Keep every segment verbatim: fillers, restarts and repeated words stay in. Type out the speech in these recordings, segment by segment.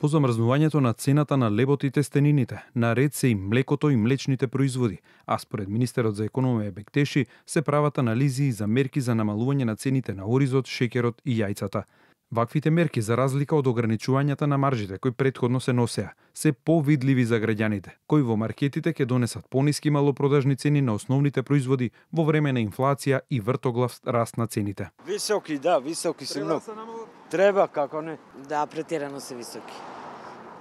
По замрзнувањето на цената на лебот и тестенините, наред се и млекото и млечните производи, а според министерот за економија Бектеши се прават анализи за мерки за намалување на цените на оризот, шеќерот и јајцата. Ваквите мерки, за разлика од ограничувањата на маржите кои претходно се носеа, се повидливи за граѓаните, кои во маркетите ќе донесат пониски малопродажни цени на основните производи во време на инфлација и вртоглав раст на цените. Високи, да, високи се многу. Треба, како не? Да, претерано се високи.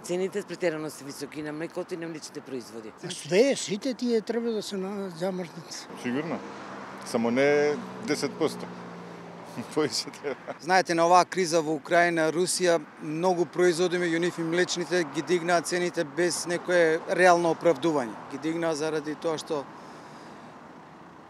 Цените претерано се високи на млекото и на млечните производи. Све, сите тие треба да се замрзнат. Сигурно. Само не десет проценти. Знаете, на оваа криза во Украина, Русија, многу производи меѓу нив и млечните ги дигнаа цените без некое реално оправдување. Ги дигнаа заради тоа што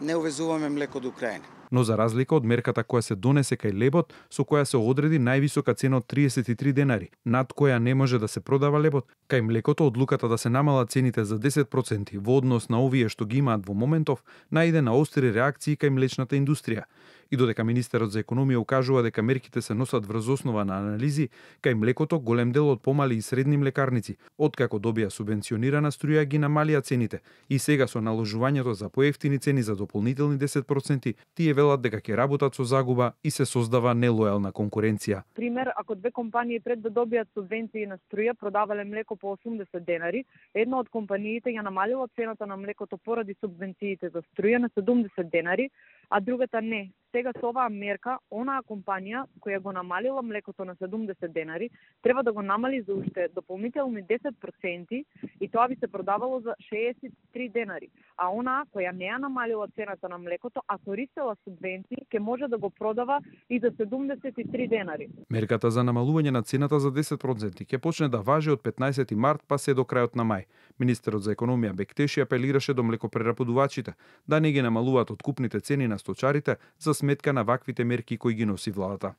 не увезуваме млеко до Украина. Но за разлика од мерката која се донесе кај лебот, со која се одреди највисока цена од триесет и три денари, над која не може да се продава лебот, кај млекото одлуката да се намалат цените за десет проценти во однос на овие што ги имаат во моментов, најде на остри реакции кај млечната индустрија. И додека министерот за економија укажува дека мерките се носат врз основа на анализи, кај млекото голем дел од помали и средни млекарници, откако добија субвенционирана струја, ги намалија цените и сега со наложувањето за поевтини цени за дополнителни десет проценти, тие велат дека ќе работат со загуба и се создава нелојална конкуренција. Пример, ако две компании пред да добијат субвенции на струја продавале млеко по осумдесет денари, една од компаниите ја намалила цената на млекото поради субвенциите за струја на седумдесет денари, а другата не. Сега со оваа мерка, онаа компанија која го намалила млекото на седумдесет денари, треба да го намали за уште дополнителни десет проценти и тоа би се продавало за шеесет и три денари. А онаа која не ја намалила цената на млекото, а користела субвенции, ќе може да го продава и за седумдесет и три денари. Мерката за намалување на цената за десет проценти ќе почне да важи од петнаесети март па се до крајот на мај. Министерот за економија Бектеши апелираше до млекопреработувачите да не ги намалуваат откупните цени на сточарите за сметка на ваквите мерки кои ги носи владата.